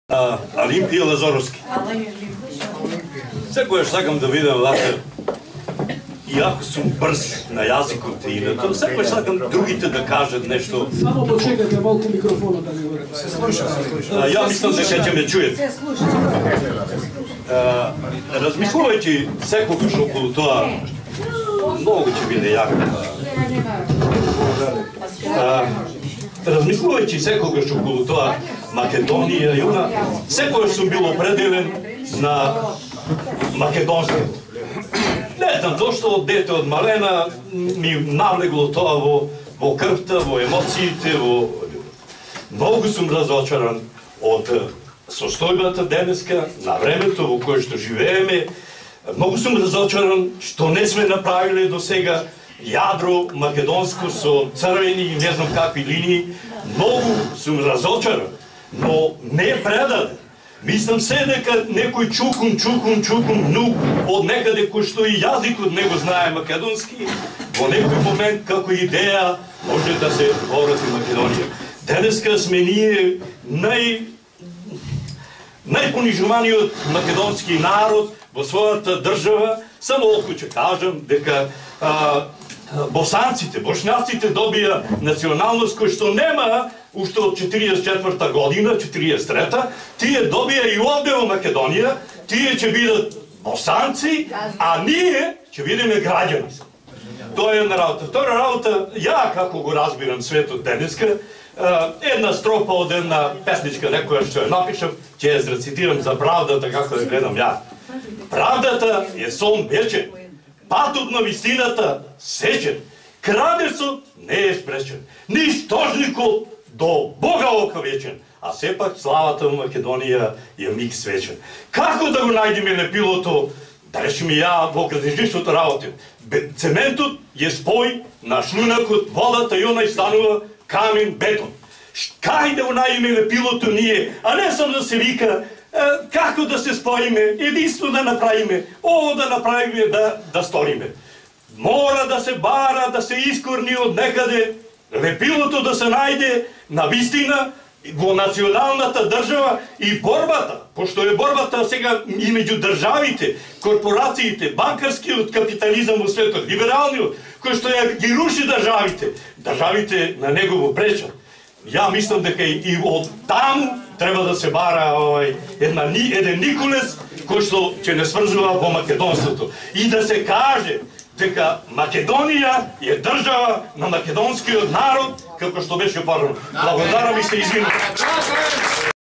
Олимпија Лазаровски. Секојаш сакам да видам вака, иако сум брз на јазикот и на тоа, секојаш сакам другите да кажат нешто. Само почекате малку микрофонот да ми врати. Се слуша. Ја мислам дека ќе ме чуете. Се слуша. Размислувајќи секогаш околу тоа, многу ќе биде јако. Размислувајќи секогаш околу тоа, Македонија и она, секојаш сум бил определен на македонство. Не знам зошто од дете од малена ми навлегло тоа во крвта, во емоциите, Многу сум разочаран од состојбата денеска, на времето во кое што живееме. Многу сум разочаран што не сме направиле до сега јадро македонско со црвени и не знам какви линии. Многу сум разочаран, но не предаде. Мислам се дека некој чукум нук од некаде кој што и јазикот не го знае македонски, во некој момент како идеја може да се поврати Македонија. Денеска сме ние најпонижуваниот македонски народ во својата држава. Само околу ќе кажам дека босанците, бошњаците добија националност кој што нема уште од 44-та година, 43-та, тие добија и овде во Македонија, тие ќе бидат босанци, а ние ќе бидеме граѓани. Тоа е една работа. Втора работа, ја како го разбирам светот денеска, една стропа од една песничка некоја што ја напишав, ќе ја зрецитирам за правдата како ја гледам ја. Правдата е сон вечен, патот на вистината сечен, крадецот не е спречен, нищожникот до Бога ока вечен, а сепак славата во Македонија е миг свечен. Како да го најдеме лепилото, да речеме ја во градежништвото работим? Цементот е спој на шлунакот, водата и онај станува камен, бетон. Кај да го најдеме лепилото ние, а не само да се вика како да се споиме, единство да направиме, ово да направиме, да сториме. Мора да се бара, да се искорни од некаде, лепилото да се најде на вистина во националната држава и борбата, пошто е борбата сега и меѓу државите, корпорациите, банкарскиот капитализам во светот, либералниот, кој што ја ги руши државите на него го пречат. Ја мислам дека и од таму треба да се бара еден Николес кој што ќе не сврзува во македонството и да се каже дека Македонија е држава на македонскиот народ, како што беше порано. Благодарам и се извинувам.